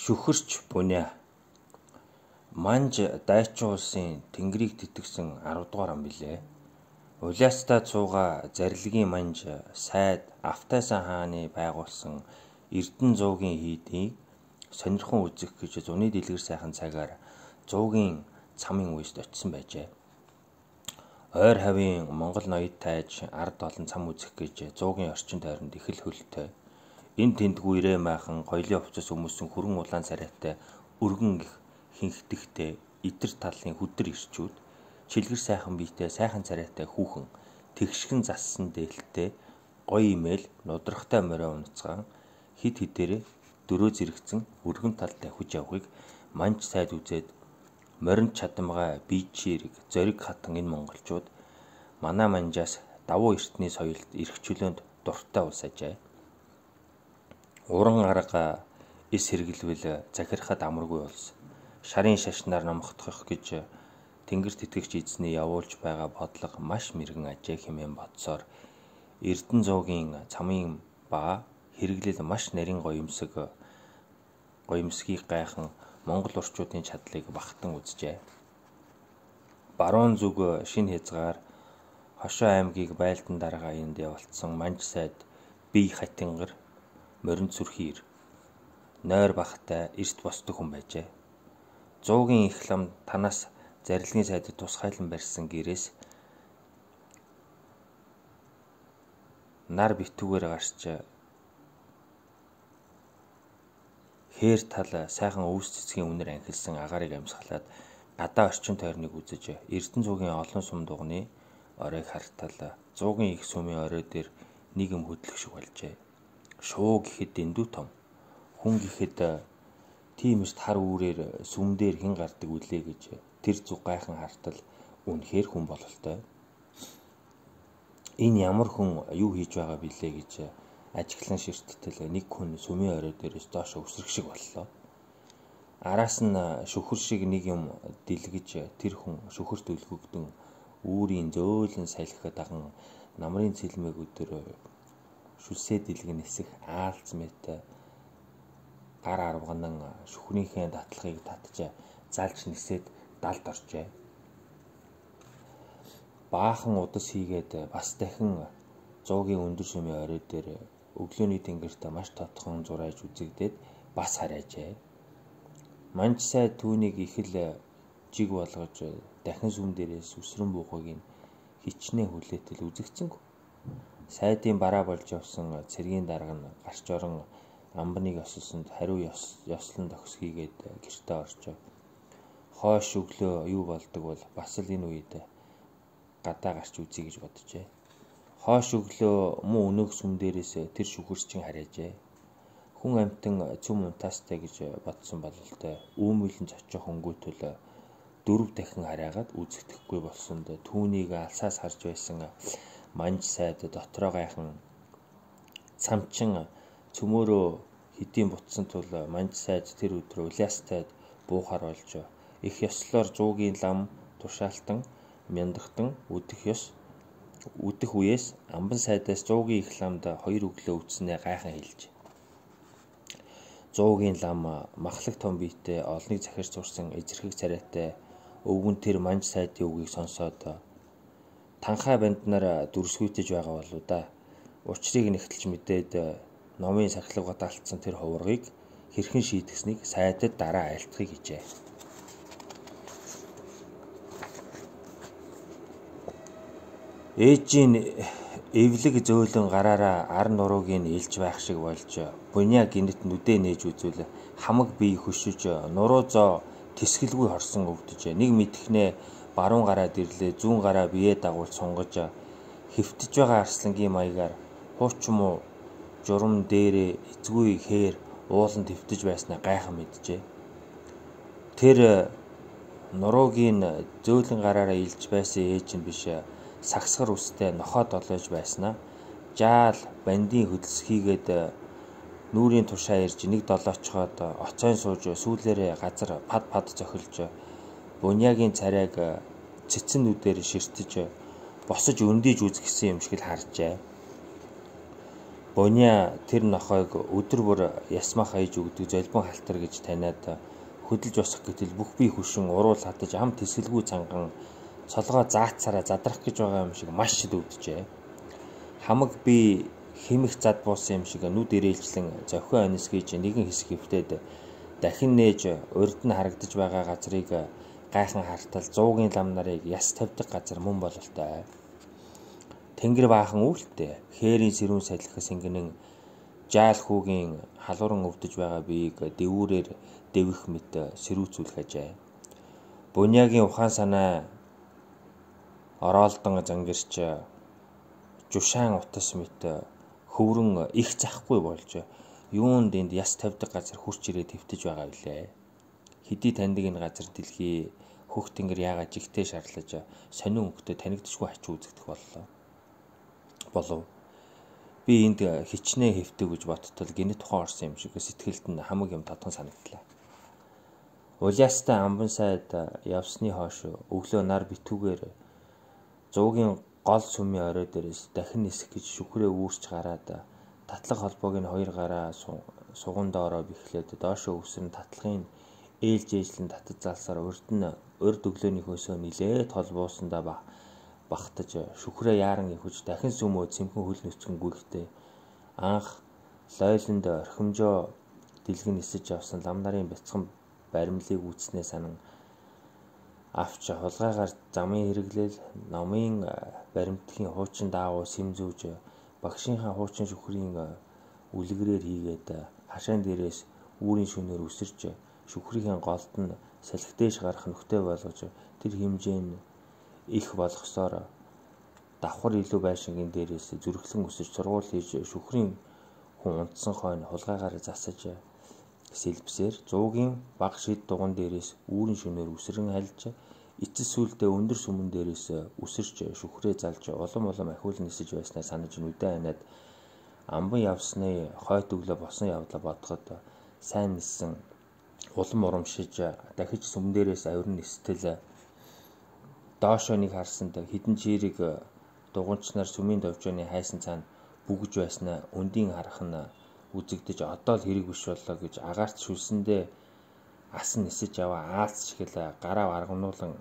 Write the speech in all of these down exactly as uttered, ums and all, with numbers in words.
Шүхэрч буниа. Манж дайчин улсын тэнгэрийг тэтгсэн арав дугаар ам билээ. Улаастаа цууга зарилгийн манж сайд Автайсан хааны байгуулсан Эрдэнэ зуугийн хийдийг сонирхон үзэх гэж зуны дэлгэр сайхан цагаар зуугийн цамын үест очисон байжээ. Ойр хавийн Монгол ноёд тайж ард олон цам үзэх гэж зуугийн орчин тойронд их л хөлтэй. Энд тэндгүй ирээ майхан гоёлын хувцас өмсөн хүрэн улаан царайтай өргөн их хинхтгэхтэй идэр талын хүдэр ирчүүд чилгэр сайхан биетэй сайхан царайтай хүүхэн тэгшгэн зассан дээлтэй гоё имэйл нудрахтай морио унацгаан хид хидээрээ дөрөө зэрэгцэн өргөн талтай хүж явахыг манж сайд үзээд моринд чадамгай бийчээрэг зориг хатан энэ монголчууд манай манжаас давуу эртний соёлд эрх чөлөөнд дуртай улс ажээ. Уран арга эс хэрэглэвэл захирахад амаргүй улс. Шарын шашнаар номхдох гэж тэнгэр тэтгэгч эзний явуулж байгаа бодлого маш мэрэгэн ажээ хэмээн бодсоор Эрдэнэ зуугийн цамын ба хэрэглэл маш нарийн гоёмсог гоёмсгийг гайхан монгол орчуудын чадлыг багтан үзжээ. Баруун зүг шинэ хязгаар Хошоо аймгийг байлдан дарга энд явуулсан манж сайд бие хатингар моринд сүрхийр нойр бахтай эрт босдог хүн байжээ. Зуугийн их лам танаас зарилгын сайдад тусгайлан барьсан гэрээс нар битүүгээр гарч хээр тал сайхан өвс цэцгийн үнэр анхилсан агаарыг амьсгалаад гадаа орчин тойрныг үзэж Эрдэнэ зуугийн олон сум дугны оройг хартал зуугийн их сумын орой дээр нэг юм хөдлөх шиг болжээ. Шуу гэхэд дэндүү том, хүн гэхэд тийм эрт хар үүрээр сүм дээр хэн гардаг үлээ гэж тэр зүг гайхан хартал үнэхээр хүн бололтой. Энэ ямар хүн юу хийж байгаа билээ гэж ажиглан ширттэл нэг хүн сүмийн орой дээрээс доош өсрөх шиг боллоо. Араас нь шүхэр шиг нэг юм дэлгэж тэр хүн шүхэрт үлгөгдөн үүрийн зөөлөн салхи даган намрын цэлмэг өдөр шүлсээ дэлгэн нисэх аалц мэт гар арвганан шүхрийнхээ датлахыг татж залж нисээд далд оржээ. Баахан удас хийгээд бас дахин зуугийн өндөр сүмийн орой дээр өглөөний тэнгэрт маш тодхон зурайж үзэгдээд бас харайжээ. Манж сайд түүнийг их л жиг болгож дахин сүм дээрээс үсрэн буухыг хичнээн хүлээтэл үзэгцэнгүй. Сайдын бараа болж явсан цэргийн дарга нь гарч орон амбныг осолсонд хариу ёслон төгс хийгээд гэртээ орчоо. Хойш өглөө юу болдог бол бас л энэ үед гадаа гарч үзье гэж боджээ. Хойш өглөө мөн өнөөх сүм дээрээс тэр шүхэрчин харайжээ. Хүн амтан цөм унтаастай гэж бодсон бололтой үүмэлэн цочих өнгөтөл дөрөв дахин хараагаад үзэгдэхгүй болсонд түүнийг алсаас харж байсан манж сайд дотроо гайхан цамчин цөмөөрөө хэдийн бутсан тул манж сайд тэр өдрөө улаастайд буухаар болж их ёслоор зуугийн лам тушаалтан мяндахтан үдэх ёс үдэх үеэс амбан сайдаас зуугийн их ламд хоёр өглөө үтснээ гайхан хэлж. Зуугийн лам махлаг том биетэй олныг захирч сурсан эзэрхэг царайтай өвгөн тэр манж сайдын үгийг сонсоод танхай банднаар дүрсгүйтэж байгаа болоо да. Учрыг нэгтэлж мэдээд номын сахилгад алдсан тэр хуврагыг хэрхэн шийдгэснийг сайдад дараа айлтгахыг хичээ. Ээжийн эвлэг зөөлөн гараараа ар нуруугийн илж байх шиг болж буниа гинэт нүдэ нээж үзвэл хамаг бие хөшөж нуруу зоо тэсгэлгүй хорсон өвдөж нэг мэдхнээ баруун гараа дэрлээ зүүн гараа бие дагуулж сунгаж хэвтэж байгаа арслангийн маягаар хууч муу журам дээрээ эцгүй хээр уулан твтэж байснаа гайхан мэджээ. Тэр нуруугийн зөөлөн гараараа илж байсан ээж нь биш сагсгар үстэй нохоо долоож байснаа жаал бандийн хөдөлс хийгээд нүрийн тушаа ирж нэг долоочхоод оцойн сууж сүүлээрээ газар пад пад зохилж буниагийн царайг цэцэн нүдээр ширтэж босож өндийж үзгэсэн юм шиг л харжээ. Буня тэр нохойг өдөр бүр ясмах аяж өгдөг золбон халтар гэж таниад хөдөлж босох гэтэл бүх бие хүшин уруул хатаж ам тэсгэлгүй цанган цолгоо заацаараа задрах гэж байгаа юм шиг маш дөвдөжээ. Хамаг би хэмэх зад буусан юм шиг нүд ирээлжлэн зохио анисгийж нэгэн хэсэг хөвтөд дахин нээж урд нь харагдаж байгаа газрыг гайхан хартал зуугийн лам нарыг яс тавьдаг газар мөн бололтой. Тэнгэр баахан үүлтэй хээрийн сэрүүн салхихс ингэнэн жаал хүүгийн халууран өвдөж байгаа биеийг дэвүүрээр дэвих мэт сэрүүцүүлэх ажээ. Бунягийн ухаан санаа ороолдон зангирч жушаан утас мэт хөврөн их захгүй болж юунд энд яс тавьдаг газар хурч ирээд твтэж байгаа билээ. Хэдий таньдаг энэ газар дэлхий хөх тэнгэр яагаад жигтэй шарлаж сонин өнгөтэй танигдчихгүй ачуу үзэгдэх боллоо. болов. Би энд хичнээн хэвтэв гэж бодтол гинэ тухайн орсон юм шиг сэтгэлд нь хамаг юм тодхон санагдлаа. Улаастай амбан сайд явсны хойш өглөө нар битүүгээр зуугийн гол сүмийн орой дээрээс дахин нисэх гэж шүхрээ үүрч гараад татлаг холбоог нь хоёр гараа суган доороо бэхлээд доошоо өвсөн татлагын ээлж ээжлэн татаж залсаар урд нь урд өглөөний хөөсөө нилээд холбоосандаа ба багтаж шүхрээ яаран ихвж дахин сүмөө цэмхэн хөл нүцгэн гүйхтэй анх лойлонд орхимжоо дэлгэн нисэж явсан лам нарын бяцхан баримлыг үүснээ санан авч хулгайгаар замын хэрэглэл номын баримтгийн хуучин даавуу сэмзүүж багшийнхаа хуучин шүхрийн үлгэрээр хийгээд хашаан дээрээс үүрийн шөнөөр үсэрч шүхрийн голд нь салхидээж гарах нөхтэй болгож тэр хэмжээнд их болгосоор давхар илүү байшингийн дээрээс зүрхлэн өсөж сургууль хийж шүхрийн хүн унтсан хойно хулгайгаар засаж сэлбсээр зуугийн баг шид дуган дээрээс үүрийн шөнөөр үсрэн хальж эцэс сүлдээ өндөр сүмэн дээрээс үсэрч шүхрээ залж улам улам ахиул нисэж байснаа санаж нүдэн ханаад амбан явсны хойд өглөө босон явдлаа бодоход сайн нисэн улам урамшиж дахиж сүм дээрээс авирн нистэл доошоо нэг харсанд хідэн чирэг дугуйчнаар сүмийн довжооны хайсан цаана бүгж байснаа өндийн харах нь үзэгдэж одоо л хэрэг биш боллоо гэж агаарт шүлсэндээ асан нисэж яваа аалц шигэл гараа аргамнуулан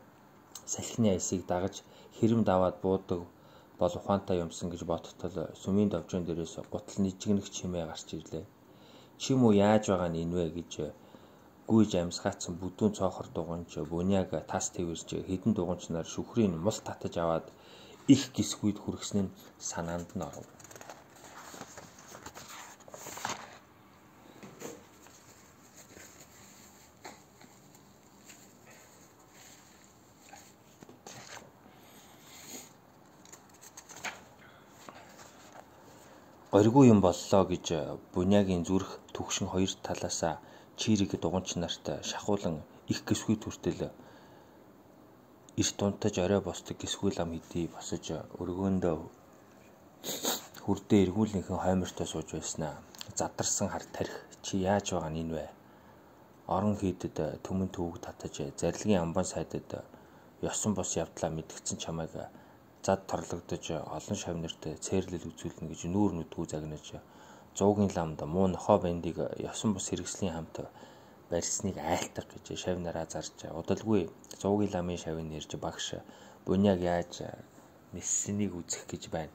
салхины айсыг дагаж хэрэм даваад буудаг бол ухаантай юмсан гэж бодтол сүмийн довжоон дээрээс гутал нижигнэх чимээ гарч ирлээ. Чим үү яаж байгаа нь энэ вэ гэж гүйж амьсгаацсан бүдүүн цоохор дуганч буняаг тас твэрч хэдэн дуганчнаар шүхрийн мул татаж аваад их гисгүйд хүргэсэн нь санаанд нь оров. Горьгүй юм боллоо гэж буняагийн зүрх түгшин хоёр талаасаа чирэг дуганч нарт шахуулан их гисгүй түртэл эрт унтаж орой босдог гисгүй лам хэдий босож өргөөндөө хүрдээ эргүүлнийхэн хоймортой сууж байснаа задарсан хар тарих чи яаж байгаа нь энэ вэ? Орон хийдэд төмөн төвөг татаж зарилгын амбан сайдад ёсон бос явдлаа мэдгдсэн чамайг зад торлогдож олон шавнарт цээрлэл үзүүлнэ гэж нүүр нүдгүй загнаж зуугийн ламд муу нохоо бандыг ёсон бус хэрэгслийн хамт барьсныг айлтах гэж шавнараа зарж удалгүй зуугийн ламын шавын нэрж багш буняаг яаж ниссэнийг үзэх гэж байна.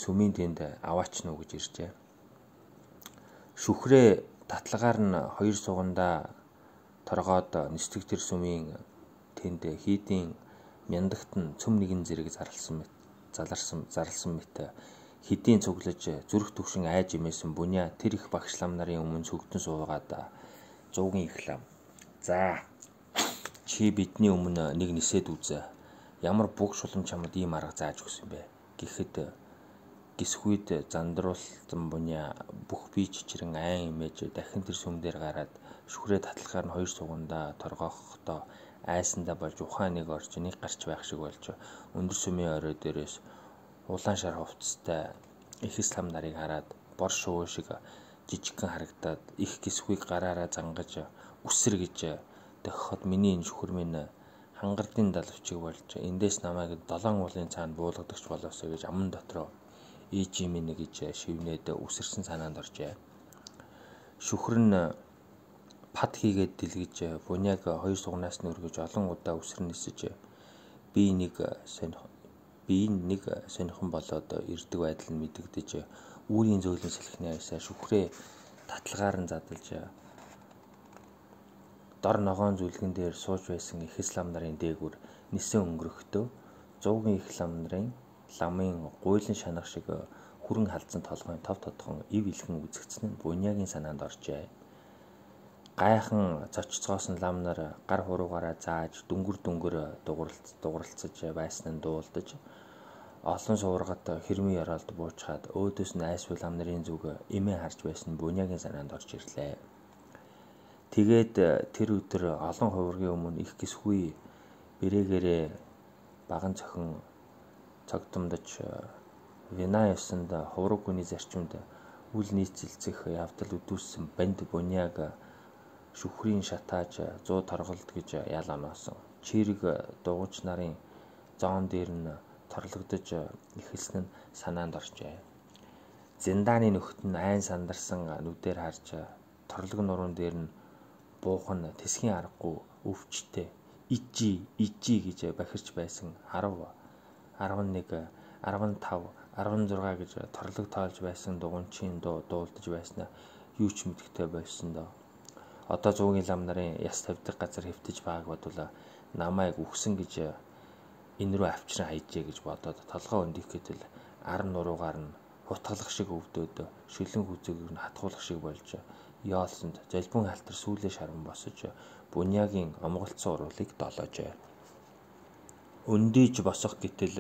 Сүмийн тэнд аваач нуу гэж иржээ. Шүхрээ татлагаар нь хоёр сугандаа торгоод нисдэг тэр сүмийн тэнд хийдийн мяндагт нь цөм нэгэн зэрэг зарлсан мэт заларсан зарлсан мэт хэдийн цуглаж зүрх төвшин айж имээсэн буня тэр их багш лам нарын өмнө цөгдөн суугаад зуугийн их лам. За чи бидний өмнө нэг нисээд үзээ. Ямар бүг шулам чамд ийм арга зааж өгсөн бэ? Гэхэд гисхүйд зандруулсан буня бүх бие чичрэн айн имэж дахин тэр сүм дээр гараад шүхрээ татлагаар нь хоёр сугандаа торгохдоо айсандаа болж ухаан нэг орж нэг гарч байх шиг болж өндөр сүмийн орой дээрээс улаан шар хувцастай их ислам нарыг хараад бор шувуу шиг жижигхэн харагдаад их гисхүйг гараараа зангаж үсэр гэж дохиход миний энэ шүхэр минь хангардын далавчиг болж эндээс намайг долоон уулын цаана буулгадагч болоосоо гэж аман дотроо ээжийн минь гэж шивнээд үсэрсэн санаанд оржээ. Шүхэр нь пад хийгээд дэлгэж буняаг хоёр сугнаас нь өргөж олон удаа үсэр нисэж би нэг сонирх би нэг сонирхон болоод ирдэг байдал нь мэдэгдэж үүрийн зөөлөн салхины аясаар шүхрээ татлагаар нь задалж дор ногоон зүлгэн дээр сууж байсан их лам нарын дээгүр нисэн өнгөрөхдөө зуугийн их лам нарын ламын гуйлан шанах шиг хүрэн халдсан толгойн тав тодхон ив илхэн үзэгдсэн нь буняагийн санаанд оржээ. Гайхан цочцгоосон лам нар гар хуруугаараа зааж дүнгэр дүнгэр дугурлц дугурлцаж байсан нь дуулдаж олон суургат хэрмийн ёроолд буучгаад өөдөөс нь айсвал лам нарын зүг эмээ харж байсан буняагийн санаанд орж ирлээ. Тэгээд тэр өдөр олон хувиргийн өмнө их гисгүй бэрэгээрээ баган цохин цогтомдож вина ёсонд хувраг хүний зарчимд үл нийцэлцэх явдал үдүүссэн банд буняаг шүхрийн шатааж зуу торголт гэж ял оноосон. Чирэг дугуйч нарын зоон дээр нь торлогдож эхэлсэн нь санаанд оржээ. Зиндааны нөхд нь айн сандарсан нүдээр харж торлог нуруунд дээр нь буухан тэсгийн аргагүй өвчтэй ижи ижи гэж бахирч байсан арав арван нэг арван тав арван зурга гэж торлог тоолж байсан дугуйчийн дуу дуулдаж байснаа юу ч мэдхтэй болсон доо. Одоо зуугийн лам нарын яс тавьдаг газар хэвтэж байгааг бодвол намайг үхсэн гэж энэ рүү авчран хайжээ гэж бодоод толгой өндөх гэтэл ар нуруугаар нь хутгалах шиг өвдөөд шүлэн хүзээг нь хатгуулах шиг болж яолсонд залбин халтар сүүлээ шаран босож буняагийн омголцсон уруулыг долоожээ. Өндийж босох гэтэл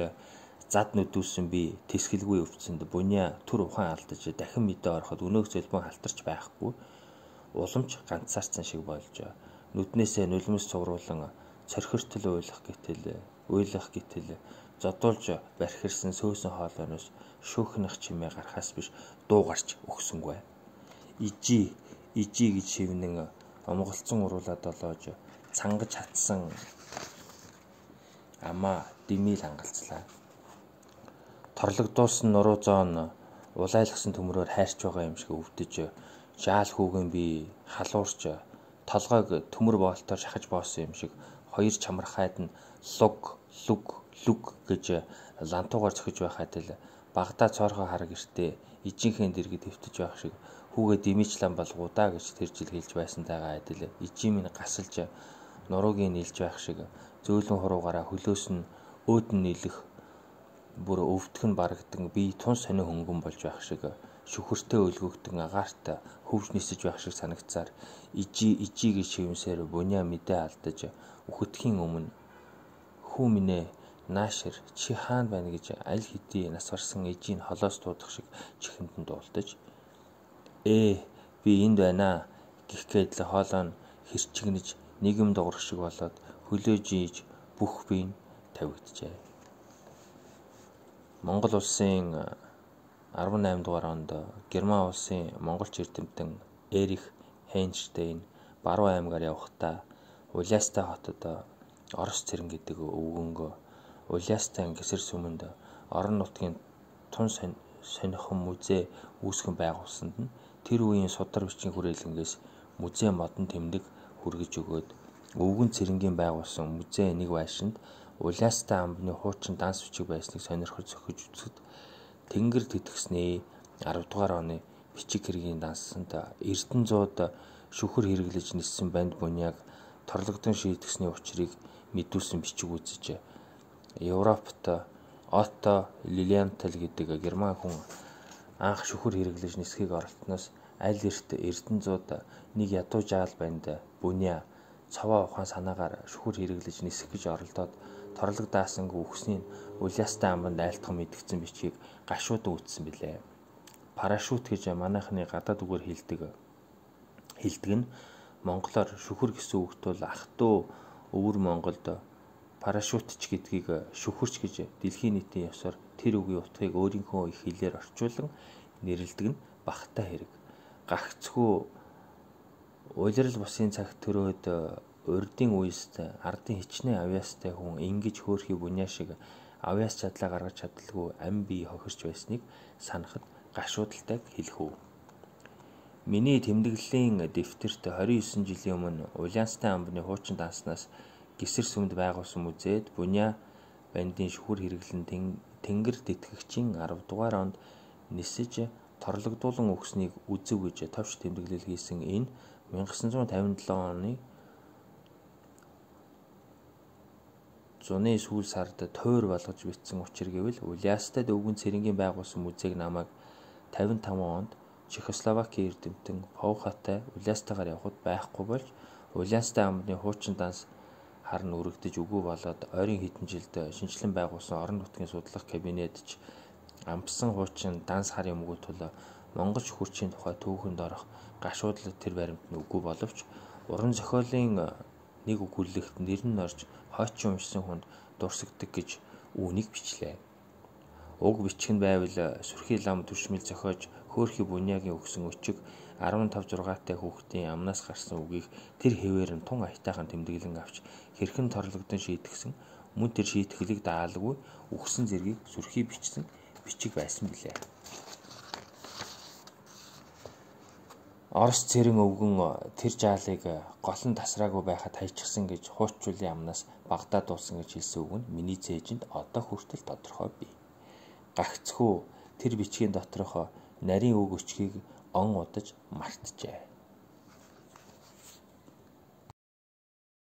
зад нүдүүлсэн би тэсгэлгүй өвчсөнд буняа түр ухаан алдаж дахин мэдээ ороход өнөөх залбин халтарч байхгүй уламж ганцаарцсан шиг болж нүднээсээ нулимс цувруулан цорхиртол уйлах гэтэл уйлах гэтэл зодуулж бархирсан сөөсөн хоолойноос шүүхнэх чимээ гарахаас биш дуу гарч өгсөнгүй. Ижи ижи гэж шивнэн омголцсон уруулаа долоож цангаж хатсан амаа димил хангалцлаа. Торлогдуулсан нуруу зоон улайлгсан төмрөөр хайрч байгаа юм шиг өвдөж жаал хүүгэн би халуурч толгойг төмөр боолтоор шахаж боосон юм шиг хоёр чамархайд нь луг луг луг гэж лантуугаар цохиж байхад л багада цоорхоо хараг гэртээ ижийнхээ дэргэд хэвтэж байх шиг хүүгээ димичлан болгуудаа гэж тэр жил хэлж байсантайгаа адил ижийн минь гасалж нуруугийн нийлж байх шиг зөөлөн хуруугаараа хөлөөс нь өөдөн нийлэх бүр өвдгөн барагдан би тун сонио хөнгөн болж байх шиг шүхэртэй өлгөгдөн агаарт хөвж нисэж байх шиг санагцаар ижи ижи гэж шивнсээр буняа мэдээ алдаж үхэтхийн өмнө хүү минь наашир чи хаана байна гэж аль хэдий нас барсан ижийн холоос дуудах шиг чихэнд нь дуулдаж ээ би энд байна гэх гээд л хоолой нь хэрчигнэж нийгэм дуурах шиг болоод хөлөө жийж бүх биеийн тавигджээ. Монгол улсын арван найм дугаар онд Герман улсын монголч эрдэмтэн Эрих Хейнштейн Баруун аймгаар явхдаа Улястай хотод Орос цэрэн гэдэг өвгөнгөө Улястай гисэр сүмэнд орон нутгийн тун сонихон музей үүсгэн байгуулсанд нь тэр үеийн судар бичгийн хүрээлэнгээс музей модон тэмдэг хүргэж өгөөд өвгөн цэрэнгийн байгуулсан музей нэг байшинд Улястай амбны хуучин данс бичиг байсныг сонирхож зохиж үзэхэд тэнгэр тэтгснээ арав дугаар оны бичиг хэргийн дансанд Эрдэнэзууд шүхэр хэрэглэж ниссэн банд буняаг торлогдсон шийтгэсний учрыг мэдүүлсэн бичиг үзэж Европт Отто Лилиенталь гэдэг герман хүн анх шүхэр хэрэглэж нисхийг оролтноос аль эрт Эрдэнэзууд нэг ядуу жаал банд буняа цаваа ухаан санаагаар шүхэр хэрэглэж нисэх гэж оролдоод торлог даасангүй үхсний Улястай амбанд айлтхан мэдгдсэн бичгийг гашуудан үтсэн билээ. Парашют гэж манайхны гадаад үгээр хэлдэг. Хэлдэг нь монголоор шүхэр гэсэн үгт бол ах トゥ өвөр Монголд парашютч гэдгийг шүхэрч гэж дэлхийн нийтийн ёсоор тэр үгийн утгыг өөрийнхөө их хэлээр орчуулан нэрлэдэг нь багтаа хэрэг. Гагцхүү улирал бусын цагт төрөөд урдын үест ардын хичнээн авьяастай хүн ингэж хөөрхий буняа шиг авьяас чадлаа гаргаж чадалгүй ам бие хохирч байсныг санахад гашуудалтайг хэлэх үү. Миний тэмдэглэлийн дэвтэрт двадцать девять жилийн өмнө Улаанстай амбны хуучин данснаас Гисэр сүмд байгуулсан музейд Буня бандын шүхэр хэрэглэн тэнгэр тэтгэгчийн арав дугаар онд нисэж торлогдуулан өгснийг үзэв гэж товч тэмдэглэл хийсэн энэ 천ix cinquanta seven оны зуны сүүл сард тойр болгож бичсэн учир гэвэл Улаанстад өвгөн цэрэнгийн байгуулсан музейг намайг пятьдесят пять онд Чехословакийн эрдэмтэн Повхатай Улаанстайгаар явхад байхгүй болж Улаанстай амбны хуучин данс харн үрэгдэж үгүй болоод ойрын хэдэн жилд шинжлэн байгуулсан орон нутгийн судлах кабинетч амбсан хуучин данс харын мгүү тул Монгол шүхэрчийн тухай түүхэнд орох гашуудлаг тэр баримт нь үгүй боловч уран зохиолын нэг өгүүлэлт нэр нь орж хойчин уншсан хүнд дурсагдаг гэж үүнийг бичлээ. Уг бичгэн байвал сүрхий лам төршмөл зохиож хөөрхий Бунягийн өгсөн өчиг15 6-тай хүүхдийн амнаас гарсан үгийг тэр хэвээр нь тун аятайхан тэмдэглэн авч хэрхэн торлогдсон шийтгсэн мөн тэр шийтгэлийг даалгүй үгсэн зэргийг сүрхий бичсэн бичиг байсан билээ. Орос цэрэн өвгөн тэр жаалыг голон тасраагүй байхад хайчихсан гэж хуучуулын амнаас багтаа дуусан гэж хэлсэн үг нь миний цээжинд одоо хүртэл тодорхой бий. Гагцхүү тэр бичгийн доторх нарийн үг өчгийг он удаж мартжээ.